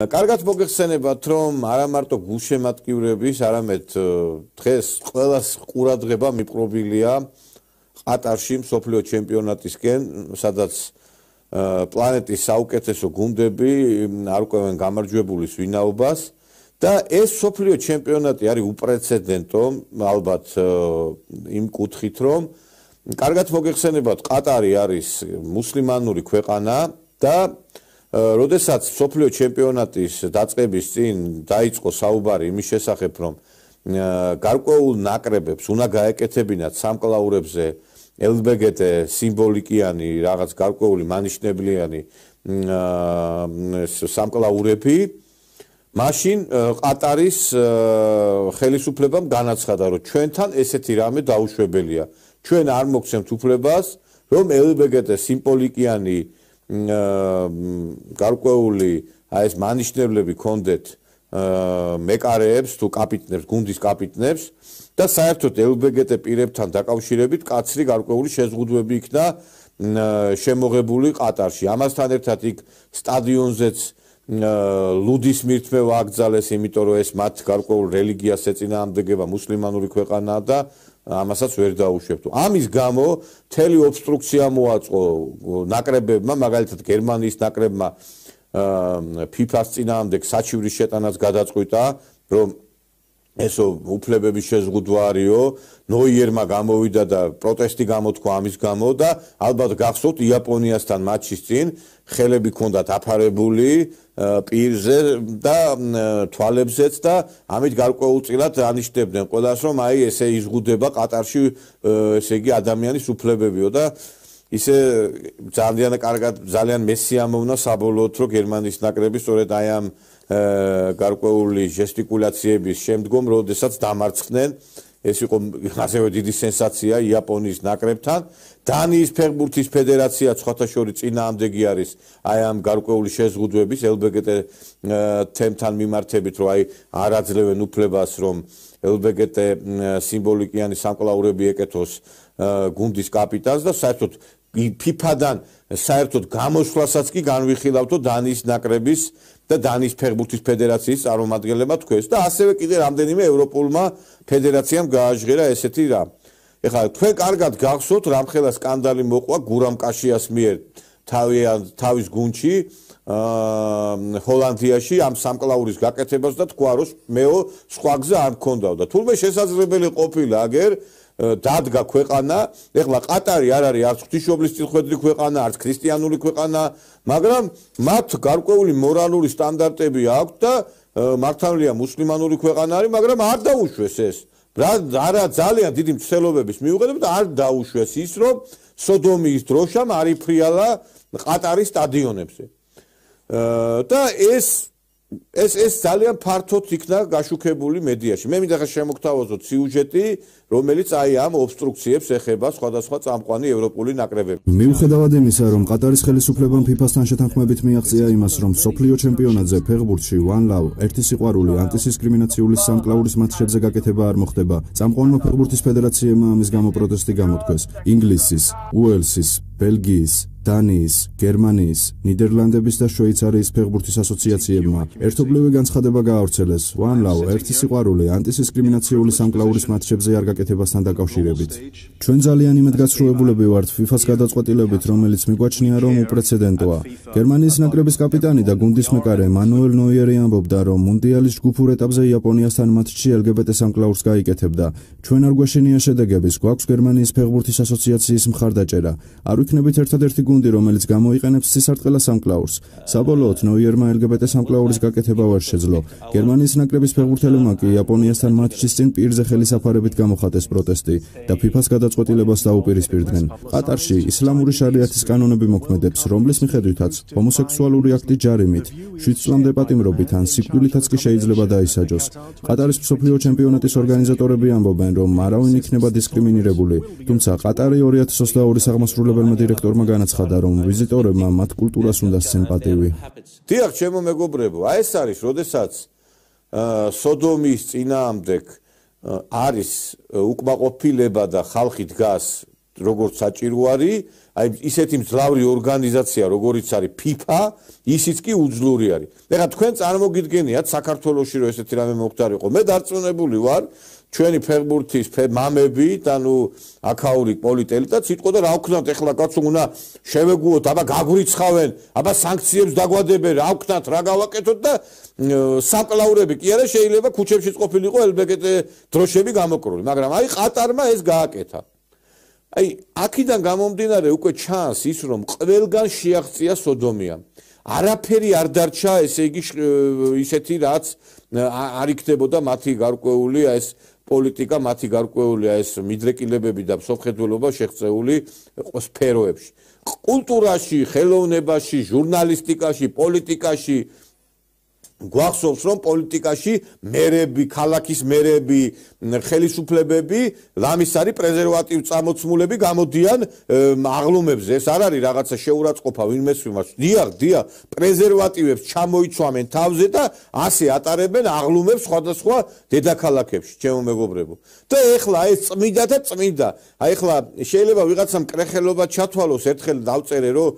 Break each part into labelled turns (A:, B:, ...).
A: კარგად მოგეხსენებათ, რომ არა მარტო გულშემატკივრების, არამედ დღეს ყველას ყურადღება მიპყრობილია ყატარში მსოფლიო ჩემპიონატისკენ, სადაც პლანეტის საუკეთესო გუნდები არ ყვევენ გამარჯვებულის ვინაობას და ეს მსოფლიო ჩემპიონატი არის უპრეცედენტო, ალბათ იმ კუთხით, რომ კარგად მოგეხსენებათ, ყატარი არის მუსლიმანური ქვეყანა და როდესაც მსოფლიო ჩემპიონატის დაწყების წინ დაიწყო საუბარი იმის შესახებ, რომ გარკვეულ ნაკრებებს უნდა გაეკეთებინათ სამკლაურებზე LGBT სიმბოლიკიანი, რაღაც გარკვეული მანიშნებლიანი სამკლაურები, მაშინ ყატარის ხელისუფლებამ განაცხადა, რომ ჩვენთან ესეთი რამე დაუშვებელია. ჩვენ არ მოგცემთ უფლებას, რომ LGBT სიმბოლიკიანი გარკვეული ეს მანიშნებლები კონდეთ მეკარეებს თუ კაპიტნებს, გუნდის კაპიტნებს და საერთოდ LGBT პირებთან დაკავშირებით კაცრი გარკვეული შეზღუდვები იქნა შემოღებული ყატარში. ამასთან ერთად იქ სტადიონზეც ლუდის მირთმევა აკრძალეს, იმიტომ რომ ეს მათ გარკვეულ რელიგიას ეწინააღმდეგება, მუსლიმანური ქვეყანაა და ამასაც ვერ დაუშვებთ. ამის გამო მთელი ობსტრუქცია მოაწყო ნაკრებებმა, მაგალითად გერმანიის ნაკრებმა FIFA-ს წინააღმდეგ საჩივრის შეტანაც გადაწყვიტა, რომ ესო უფლებების შეზღუდვა არისო, ნოიერმა გამოვიდა და პროტესტი გამოთქვა ამის გამო და ალბათ გახსოვთ იაპონიასთან მატჩის წინ ხელები ჰქონდათ აფარებული პირზე და თვალებზეც და ამით გარკვეულწილად ანიშნებდნენ ყველას, რომ აი ესე იზღუდება ყატარში ესე იგი ადამიანის უფლებებიო და ისე ძალიან კარგად, ძალიან მესიამოვნა საბოლოოდ, რომ გერმანიის ნაკრები სწორედ აი ამ გარკვეული ჟესტიკულაციების შემდგომ, როდესაც დამარცხდნენ, ეს იყო ასევე დიდი სენსაცია იაპონიის ნაკრებთან. დანიის ფეხბურთის ფედერაცია სხვათა შორის წინააღმდეგი არის აი ამ გარკვეული შეზღუდვების LGBT თემთან მიმართებით, რომ აი არ აძლევენ უფლებას, რომ LGBT სიმბოლიკიანი სამკლაურები ეკეთოს გუნდის კაპიტანს და საერთოდ FIFA-დან საერთოდ გამოსვლასაც კი განვიხილავთო დანიის ნაკრების და დანიის ფეხბურთის ფედერაციის წარმომადგენლებმა თქვეს და ასევე კიდე რამდენიმე ევროპულმა ფედერაციამ გააჟღერა ესეთი რამ. ეხლა თქვენ კარგად გახსოვთ, რამხელა სკანდალი მოყვა გურამ კაშიას მიერ თავის გუნდში ჰოლანდიაში ამ სამკლაურის გაკეთებას და თქვა, რომ მეო სხვა გზა არ მქონდაო და თურმე შესაძლებელი ყოფილა აგერ დადგა ქვეყანა, ეხლა ყატარი არ არის არც ღვთისმშობლის წილხვედრი ქვეყანა, არც ქრისტიანული ქვეყანა, მაგრამ მათ გარკვეული მორალური სტანდარტები აქვთ და მართალია მუსლიმანური ქვეყანა არის, მაგრამ არ დაუშვეს ეს. არა ძალიან დიდი მცდელობების მიუხედავად და არ დაუშვეს ის, რომ სოდომიის დროშამ არ იფრიალა ყატარის სტადიონებზე. და ეს ძალიან ფართოდ იქნა გაშუქებული მედიაში. მე მინდა შემოგთავაზოთ სიუჟეტი, რომელიც აი ამ ობსტრუქციებს ეხება სხვადასხვა წამყვანი ევროპული ნაკრებები.
B: მიუხედავად იმისა, რომ ყატარის ხელისუფლებამ FIFA-სთან შეთანხმებით მიაღწია იმას, რომ მსოფლიო ჩემპიონატზე ფეხბურთში One Love, ერთი სიყვარული ანტიდისკრიმინაციული სამკლაურის მატჩებზე გაკეთება არ მოხდება, წამყვანმა ფეხბურთის ფედერაციებმა ამის გამო პროტესტი გამოთქვეს. ინგლისის, უელსის, ბელგიის, დანიის, გერმანიის, ნიდერლანდების და შვეიცარიის ფეხბურთის ასოციაციებმა ერთობლივი განცხადება გაავრცელეს One Love, ერთი სიყვარული ანტიდისკრიმინაციული სამკლაურის მატჩებზე არ გაკეთებასთან დაკავშირებით. ჩვენ ძალიან იმედგაცრუებულები ვართ FIFA-ს გადაწყვეტილებით, რომელიც მიგვაჩნია, რომ უპრეცედენტოა. გერმანიის ნაკრების კაპიტანი და გუნდის მეკარე მანუელ ნოიერი ამბობდა, რომ მუნდიალის ჯგუფურ ეტაპზე იაპონიასთან მატჩში LGBT სამკლაურს გაიკეთებდა. ჩვენ არ გვაშენია შედეგების, გვაქვს გერმანიის ფეხბურთის ასოციაციის მხარდაჭერა. არ ვიქნებით ერთადერთი გუნდი, რომელიც გამოიყენებს ცისარტყელა სამკლაურს. საბოლოოდ ნოიერმა LGBT სამკლაურის გაკეთება ვერ შეძლო. გერმანიის ნაკრების ფეხბურთელებმა კი იაპონიასთან მატჩის წინ პირზე ხელისაფარებით გამოხატეს პროტესტი და FIFA-ს გადაწყვეტილებას დაუპირისპირდნენ. ყატარში ისლამური შარიათის კანონები მოქმედებს, რომლის მიხედვითაც ჰომოსექსუალური აქტი ჯარიმით, 7 წლამდე პატიმრობით ან სიკვდილითაც კი შეიძლება დაისაჯოს. ყატარის მსოფლიო ჩემპიონატის ორგანიზატორები ამბობენ, რომ არავინ იქნება დისკრიმინირებული, თუმცა ყატარი 2022 აღმასრულებელმა დირექტორმა განაცხადა, რომ ვიზიტორებმა მათ კულტურას უნდა სცენ პატივი.
A: დიახ, ჩემო მეგობრებო, აი ეს არის, როდესაც სოდომის წინააღმდეგ არის უკმაყოფილება და ხალხი დგას როგორც საჭირო არის, აი ისეთი მძლავრი ორგანიზაცია, როგორიც არის FIFA, ისიც კი უძლური არის. ეხლა თქვენ წარმოგიდგენიათ საქართველოში რომ ესეთი რამე მოხდარიყო. მე დარწმუნებული ვარ, ჩვენი ფეხბურთის მამები, ანუ აქაური პოლიტელიტაც იტყო და რა ვქნათ ეხლა კაცო უნდა შევეგუოთ, აბა გაგვრიცხავენ, აბა სანქციებს დაგვადებენ, რა ვქნათ, რა გავაკეთოთ და სამკლაურები კი არა შეიძლება ქუჩებში ყოფილიყო LGBT დროშები გამოკრული, მაგრამ აი ყატარმა ეს გააკეთა. აი აქედან გამომდინარე უკვე ჩანს ის რომ ყველგან შეაღწია სოდომია. არაფერი არ დარჩა, ესე იგი ისეთი რაც არ იქნებოდა მათი გარკვეული ეს პოლიტიკა, მათი გარკვეული ეს მიდრეკილებები და მსოფლმხედველობა შეღწეული სფეროებში. კულტურაში, ხელოვნებაში, ჟურნალისტიკაში, პოლიტიკაში გვახსოვს რომ პოლიტიკაში მერები, ქალაქის მერები, ხელისუფლებები, ლამის არის პრეზერვატივ წამოცმულები გამოდიან აღლუმებზე. ეს არ არის რაღაცა შეურაცხყოფა ვინმეს მიმართ. დიახ, პრეზერვატივებს ჩამოიცვამენ თავზე და ასე ატარებენ აღლუმებს სხვადასხვა დედაქალაქებში, ჩემო მეგობრებო. და ეხლა ეს წმინდა და წმინდა. აი ეხლა შეიძლება ვიღაცამ კრეხელობა ჩათვალოს, ერთხელ დავწერე რომ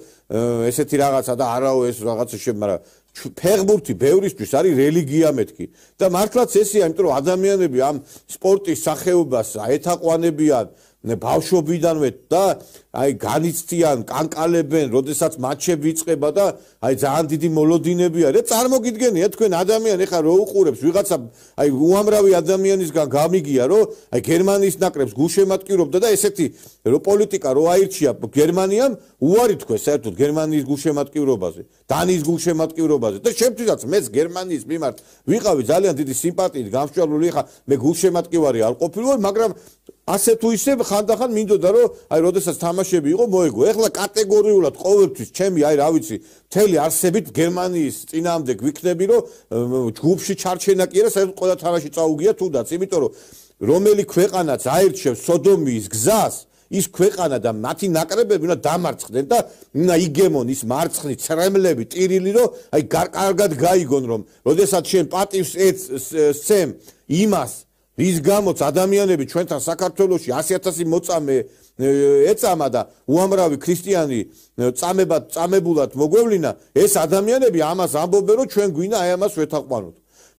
A: ესეთი რაღაცა და არაო ეს რაღაცა მაგრამ ფეხბურთი ბევრისთვის არის რელიგია მეთქი და მართლაც ესეა, იმიტომ რომ ადამიანები ამ სპორტის სახეობას ეთაყვანებიან ბავშვობიდანვე და აი განიცდიან, კანკალებენ, როდესაც მატჩები იწყება და აი ძალიან დიდი მოლოდინები არის. წარმოგიდგენია თქვენ ადამიანი ხარ რო უყურებს ვიღაცა აი უამრავი ადამიანისგან გამიგია რომ აი გერმანიის ნაკრებს გულშემატკივრობდა და ესეთი რო პოლიტიკა რო აირჩია გერმანიამ უარი თქვენ საერთოდ გერმანიის გულშემატკივრობაზე, დანიის გულშემატკივრობაზე და შემთხვევით მეც გერმანიის მიმართ ვიყავი ძალიან დიდი სიმპათიით გამსჭვალული ხა მე გულშემატკივარი არ ყოფილვარ, მაგრამ ასე თუ ისე ხანდახან მინდოდა რომ აი როდესაც თამაშები იყო მოეგო. ეხლა კატეგორიულად ყოველთვის ჩემი აი რა ვიცი მთელი არსებით გერმანიის წინააღმდეგ ვიქნები რომ ჯგუფში ჩარჩენა კი არა საერთოდ ყველა თამაში წაუგია თუდაც, იმიტომ რომ რომელი ქვეყანაც აირჩევს სოდომიის გზას ის ქვეყანა და მათი ნაკრებები უნდა დამარცხდნენ და უნდა იგემონ ის მარცხნი ცრემლები ტირილი რომ აი კარგად გაიგონ რომ როდესაც შენ პატივს ეცემ იმას რის გამოც ადამიანები ჩვენთან საქართველოში 100,000 მოწამე ეწამა და უამრავი ქრისტიანი წამებულად მოგვევლინა, ეს ადამიანები ამას ამბობენ რომ ჩვენ გვინდა აი ამას ვეთაყვანოთ.